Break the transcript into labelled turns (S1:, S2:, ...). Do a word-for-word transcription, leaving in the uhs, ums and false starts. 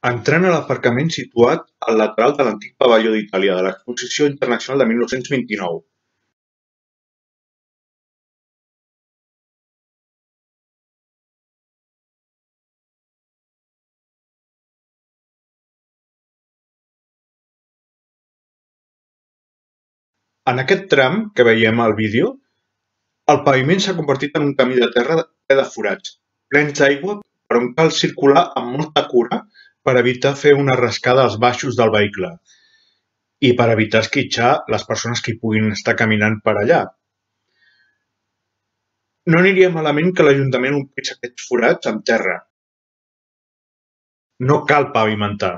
S1: Entrem a l'aparcament situat al lateral de l'antic Pavelló d'Itàlia de l'Exposició Internacional de mil nou-cents vint-i-nou. En aquest tram que veiem al vídeo, el paviment s'ha convertit en un camí de terra ple de forats, plens d'aigua, per on cal circular amb molta cura per evitar fer una rascada als baixos del vehicle i per evitar esquitxar les persones que hi puguin estar caminant per allà. No aniria malament que l'Ajuntament omplís aquests forats amb terra. No cal pavimentar.